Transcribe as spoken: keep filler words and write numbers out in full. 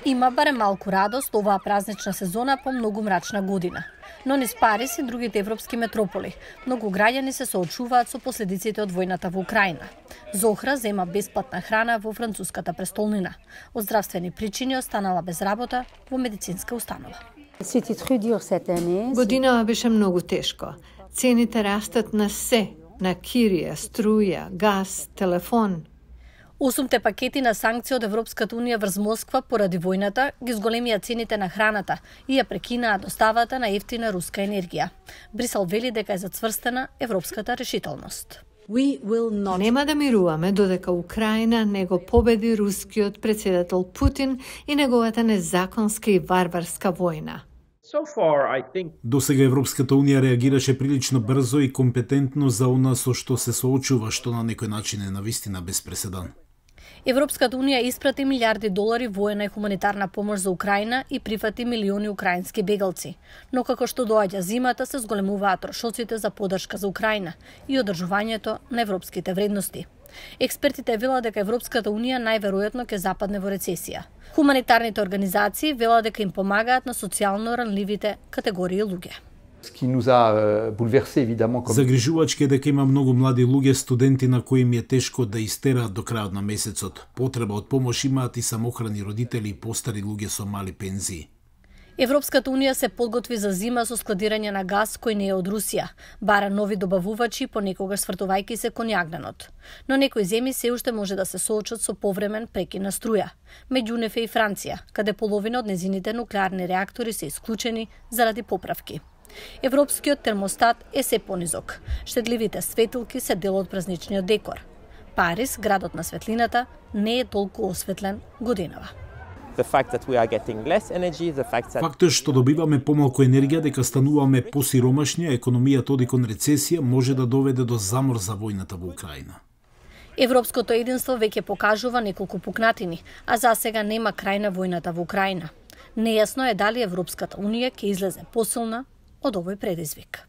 Има барем малку радост оваа празнична сезона по многу мрачна година. Но низ Париз и другите европски метрополи, многу граѓани се соочуваат со последиците од војната во Украина. Зохра зема бесплатна храна во француската престолнина. Од здравствени причини останала без работа во медицинска установа. Годинава беше многу тешко. Цените растат на се, на кирија, струја, газ, телефон. Осумте пакети на санкции од Европската унија врз Москва поради војната ги зголемија цените на храната и ја прекинаа доставата на ефтина руска енергија. Брисел вели дека е зацврстена европската решителност. Not... Нема да мируваме додека Украина не го победи рускиот председател Путин и неговата незаконска и варварска војна. So far, I think... До сега Европската унија реагираше прилично брзо и компетентно за она со што се соочува, што на некој начин е навистина без преседан. Европската унија испрати милиарди долари воена и хуманитарна помош за Украина и прифати милиони украински бегалци. Но како што доаѓа зимата, се зголемуваат трошоците за поддршка за Украина и одржувањето на европските вредности. Експертите велат дека Европската унија најверојатно ќе западне во рецесија. Хуманитарните организации велат дека им помагаат на социјално ранливите категории луѓе. Загрижувачки е дека има многу млади луѓе, студенти на кои им е тешко да истераат до крајот на месецот. Потреба од помош имаат и самохрани родители и постари луѓе со мали пензии. Европската унија се подготви за зима со складирање на газ кој не е од Русија, бара нови добавувачи, понекогаш свртувајќи се кон јагненот. Но некои земји се уште може да се соочат со повремен прекин на струја. Меѓу нив е и Франција, каде половина од незините нуклеарни реактори се исклучени заради поправки. Европскиот термостат е се понизок. Штедливите светилки се дел од празничниот декор. Париз, градот на светлината, не е толку осветлен годинава. Фактот што добиваме помалку енергија, дека стануваме посиромашни, а економијата оди кон рецесија, може да доведе до замор за војната во Украина. Европското единство веќе покажува неколку пукнатини, а за сега нема крај на војната во Украина. Нејасно е дали Европската унија ќе излезе посилна од овој предизвик.